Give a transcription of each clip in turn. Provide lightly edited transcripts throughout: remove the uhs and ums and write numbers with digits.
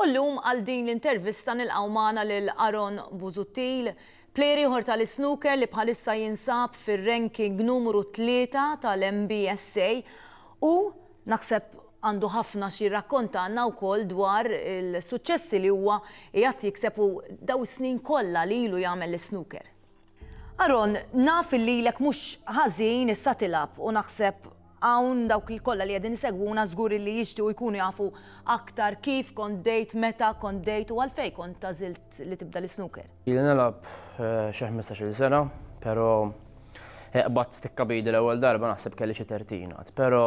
U llum għal din l-intervista nilqgħu magħna lil Aaron Busuttil, plejer ieħor tal-isnooker li bħalissa jinsab fir-ranking numru 3 tal-MBSA u naħseb għandu ħafna xi jirrakkontalna wkoll dwar il-suċċessi li huwa qiegħed jikseb u daw is-snin kollha li ilu jagħmel l-isnooker. Aaron, naf illi ilek mhux ħażin issa tilgħab u naħseb hawn dawk li kollha li qegħdin isegwuna żgur illi jixtiequ jkunu jafu aktar kif kont bdejt, meta kont bdejt u għalfejn kont għażilt li tibda l-isnooker. Ili nilgħab xi 15-il sena, però qbadt stikka b'idi l-ewwel darba naħseb kelli xi 13 għad, però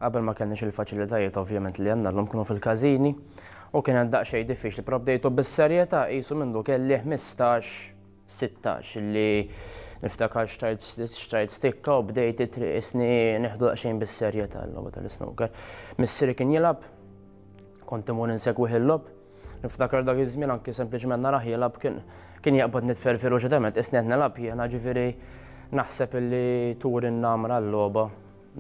qabel ma kellniex il-faċilitajiet ovvjament li għandna llum kienu fil-każini u kienet daqsxejn diffiċli, però bdejtu bis-serjetà qisu mindu kelli 15 16 li niftakar xtrajt xtrajt stikka u bdejt it-triq isni nieħdu daqsxejn bis-serjetà l-logħba tal-isnooker. Missieri kien jilgħab, kont imur insegwih il-logħob. Niftakar dak iż-żmien anki sempliċement narah jilgħab kien kien jaqbad nitfer feroċitament isni qed nilgħab jiena ġifieri naħseb illi turi n-namra l-logħba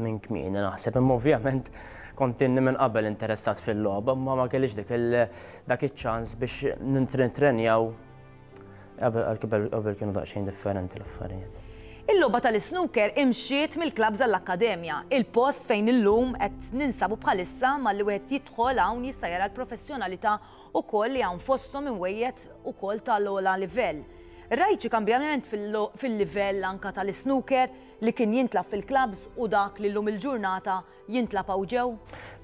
minn kmieni naħseb imma ovvjament kont inni minn qabel interessat fil-logħba imma ma kellix dik dak iċ-ċans biex nintrenjaw Qabel kienu daqsxejn differenti l-affarijiet. Il-logħba tal-isnooker imxiet mill-klabbs għall-akkademja, il-post fejn illum qed ninsabu bħalissa malli wieħed jidħol hawn jista' jara l-professjonalità ukoll li hawn fosthom imwejjed ukoll tal-ogħla livell. Rajt xi kambjament fil-livell anke tal-isnooker li kien jintlagħab fil-klabbs u dak li llum il-ġurnata jintlagħab hawn ġew?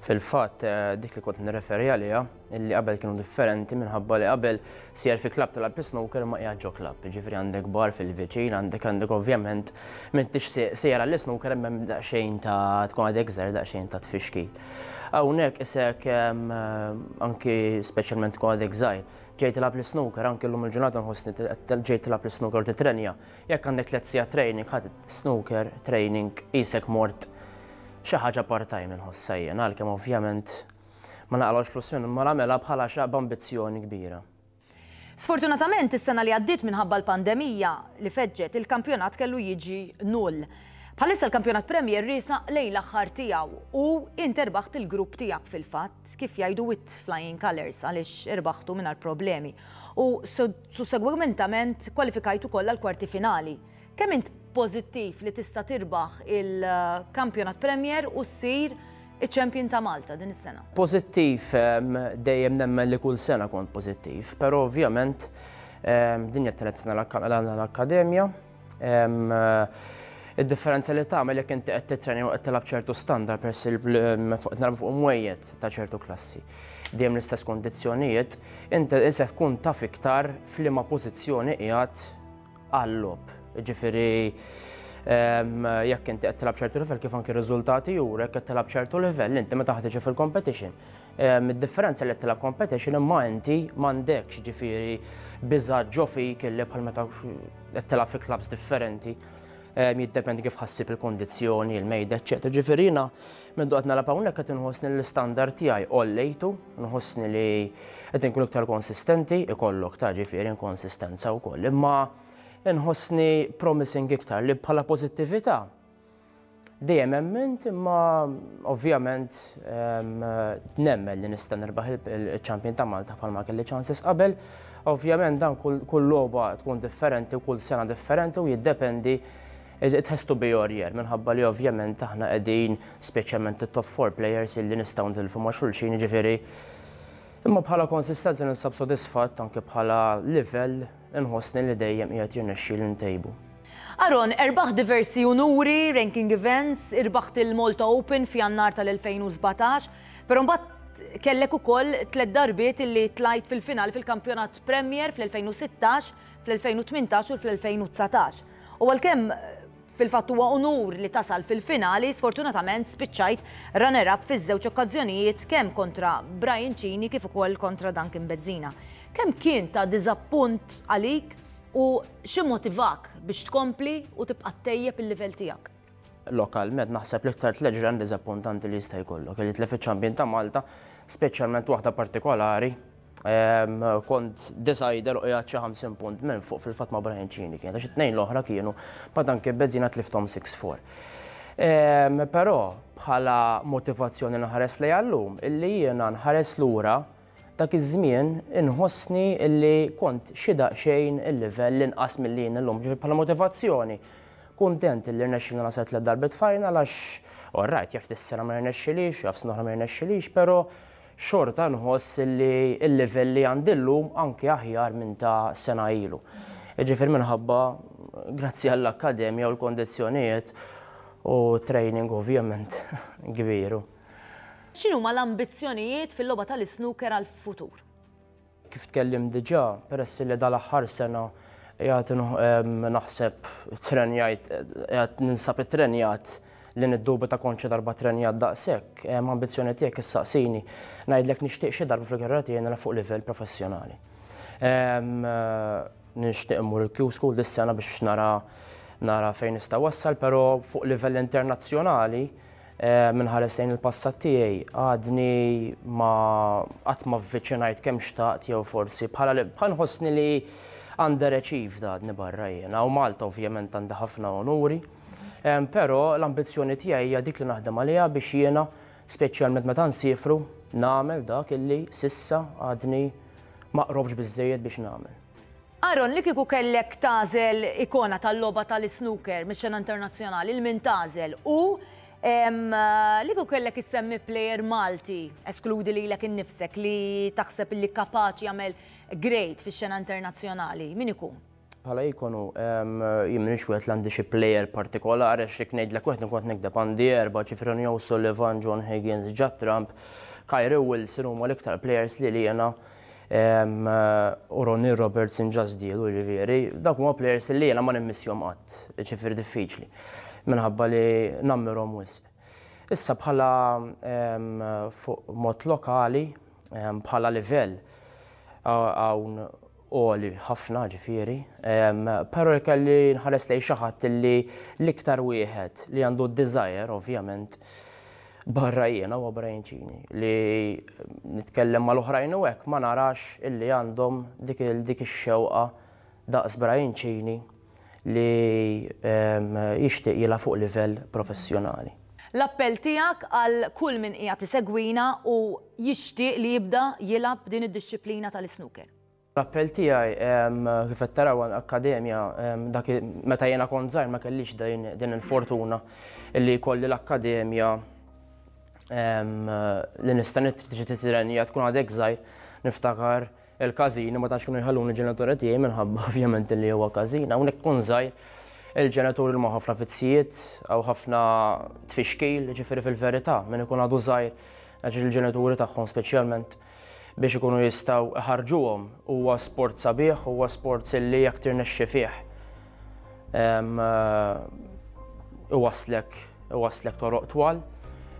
Fil-fatt, dik li kont nirreferi għaliha, illi qabel kienu differenti minħabba li qabel sejjer fi klabb tilgħab is-snooker imma qiegħed ġo klabb, jiġifieri għandek bar fil-viċin, għandek għandek ovvjament m'intix sejjer għall-isnooker imma hemm daqsxejn ta' tkun għadek żgħir daqsxejn ta' tfixkil. Hawnhekk isek anki speċjalment tkun għadek żgħir, ġej tilgħab l-isnooker, anki llum il-ġurnata nħossni ġej tilgħab l-isnooker u titrenja, Jekk għandek tlett sigħat training, ħadd snooker training qisek mort xi ħaġa part-time inħossha jien, għalkemm ovvjament ma naqlgħux flus minnu, imma nagħmilha bħala xi b'ambizzjoni kbira. Sfortunatament is-sena li għaddiet minħabba l-pandemija li feġġet, il-kampjonat kellu jiġi null. Bħalissa l-kampjonat Premier riesaq lejn l-aħħar tiegħu u int erbaħt il-grupp tiegħek fil-fatt, kif jgħidu with flying colours għaliex irbaħtu mingħajr problemi. U Sussegwementament kwalifikajt ukoll għall-kwarti finali. Kemm int pożittiv li tista' tirbaħ il-Kampjonat Premier u ssir iċ-champion ta' Malta din is-sena? Pożittiv dejjem nemmen li kull sena kont pożittiv, però ovvjament din hija t-tielet sena l-akkademja. Id-differenza li tagħmel jekk inti qed titrenja u qed tilgħab ċertu standard peress li qed nilagħbu fuq imwejjed ta' ċertu klassi. Dejjem l-istess kondizzjonijiet, inti se tkun taf iktar f'liema pożizzjoni qiegħed għal-logħob. Ġifieri jekk inti qed tilgħab ċertu livell kif anki r-riżultati juru jekk qed tilgħab ċertu livell inti meta ħa tiġi fil-competition. Id-differenza li qed tilgħab competition imma inti m'għandekx ġifieri biża' ġo fik illi bħal meta qed tilgħab fi clubs differenti, jiddependi kif ħassib il-kondizzjoni, il-mejda, eċċetera. Ġifieri jiena minn qed nalgħab hawnhekk qed inħossni l-istandard tiegħi għollejtu, nħossni li qed inkun iktar konsistenti, ikollok ta' ġifieri inkonsistenza wkoll, imma inħossni promising iktar li bħala pożittività Dejjem emmint imma ovvjament nemmen li nista' nirbaħ il-champion ta' Malta bħalma kelli chances qabel. Ovvjament dan kull logħba tkun differenti u kull sena differenti u jiddependi it has to be your year minħabba li ovvjament aħna qegħdin speċjalment it-top 4 players illi nistgħu nitilfu ma' xulxin jiġifieri imma bħala konsistenza ninsab sodisfatt anke bħala livell Inħossni li dejjem qiegħed jirnexxieli ntejbu. Aaron, erbaħt diversi unuri, ranking events, irbaħt il-Malta Open f'Jannar tal-2017, però mbagħad kellek ukoll tlett darbiet illi tlajt fil-finali fil-Kampjonat Premier fl-2016, fl-2018 u fl-2019. U għalkemm Fil-fatt huwa unur li tasal fil-finali, sfortunatament spiċċajt runner-up fiż-żewġ okkażjonijiet kemm kontra Brian Cini kif ukoll kontra Duncan Bezzina. Kemm kien ta' diżappunt għalik u x'immotivak biex tkompli u tibqa' ttejjeb il-livell tiegħek? Lokalment naħseb l-iktar tlett ġranet diżappuntanti li jista' jkollok, li tlef iċ-champion ta' Malta, speċjalment waħda partikolari Kont decider u qiegħed xi 50 punt minn fuq fil-fatt ma' Brian Cini kien, għax it-tnejn l-oħra kienu ma' Duncan Bezzina tlifthom 6-4. Però bħala motivazzjoni nħares lejha llum, illi jiena nħares lura Dak iż-żmien inħossni li kont xi daqsxejn il-livell inqas milli jien illum, ġifieri bħala motivazzjoni. Kuntent li rnexxielna nasal tliet darbiet final għax all right jaf dis-sena ma jirnexxilix, jaf sena oħra ma jirnexxilix, però xorta nħoss li l-livell li għandi llum anki aħjar minn ta' sena ilu. Jiġifieri minħabba grazzi għall-akkademja u l-kondizzjonijiet u training ovvjament kbir. X'inhuma l-ambizzjonijiet fil-logħba tal-isnooker għall-futur? Kif tkellimt diġà, peress li dal-aħħar sena qiegħed naħseb trenjajt, qiegħed ninsab ittrenjat li niddubita kont xi darba trenjat daqshekk, ambizzjoni tiegħek issaqsini, ngħidlek nixtieq xi darba fil-karriera tiegħi nilgħab fuq livell professjonali. Nixtieq immur il-Q School dis-sena biex nara nara fejn nista' wassal, però fuq livell internazzjonali Minħares lejn il-passat tiegħi għadni ma qatt ma vviċinajt kemm xtaqt jew forsi bħala li bħal nħossni li underachieved għadni barra jiena u Malta ovvjament għandi ħafna onuri. Però l-ambizzjoni tiegħi hija dik li naħdem għaliha biex jiena speċjalment meta nsiefru nagħmel dak illi s'issa għadni ma qrobx biżżejjed biex nagħmel. Aaron, li kieku kellek tagħżel ikona tal-logħba tal-isnooker mix-xena internazzjonali, lil min tagħżel? U li kieku kellek issemmi plejer Malti, eskludi lilek innifsek, li taħseb li kapaċi jagħmel great fix-xena internazzjonali, min ikun? Bħala ikonu, jien m'iniex wieħed li għandi xi plejer partikolari għax jekk ngħidlek wieħed inkun qed nigdeb għandi erba' ġifieri Ronnie O'Sullivan, John Higgins, Judd Trump, Kyrie Wilson huma l-iktar plejers li jiena U Ronnie Robertson ġa żdiedu, jiġifieri, dawk huma players li jiena ma nimmissjhom qatt, jiġifieri diffiċli, minħabba li nammirhom wisq. Issa bħala fuq mod lokali, bħala livell hawn għoli ħafna ġifieri, però jekk kelli nħares lejn xi ħadd li l-iktar wieħed li għandu d-desire ovvjament, Barra jiena huwa Brian Cini li nitkellem mal-oħrajn u hekk ma narax illi għandhom dik dik ix-xewqa daqs Brian Cini li jixtieq jilgħab fuq livell professjonali. L-appell tiegħek għal kull min qiegħed isegwina u jixtieq li jibda jilgħab din id-dixxiplina tal-isnooker. L-appell tiegħi, kif qed taraw akkademja, dak meta jiena kont żgħir ma kellix din il-fortuna li jkolli l-akkademja li nista' tiġi titrenja tkun għadek żgħir niftakar il-każini ma tantx kienu jħalluni l-ġenituri tiegħi minħabba ovvjament li huwa każin. Hawnhekk tkun żgħir il-ġenituri huma ħafna vizzijiet hawn ħafna tfixkil, ġifieri fil-verità min ikun għadu żgħir għax il-ġenituri tagħhom speċjalment biex ikunu jistgħu iħarrġuhom. Huwa sport sabiħ, huwa sport li jekk tirnexxi fih iwasslek iwasslek toroq twal.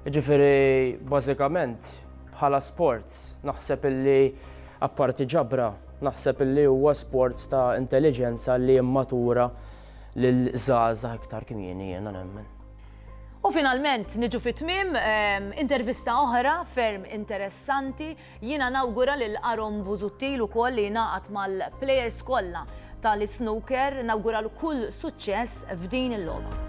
Jiġifieri bażikament bħala sport naħseb illi apparti ġabra naħseb illi huwa sport ta' intelliġenza li jimmatura lil żgħażagħ iktar kmieni jiena nemmen. U finalment niġu fi tmiem intervista oħra ferm interessanti. Jiena nawgura lil Aaron Busuttil ukoll li jingħaqad mal-plejers kollha tal-isnooker, nawguralu kull suċċess f'din il-logħba.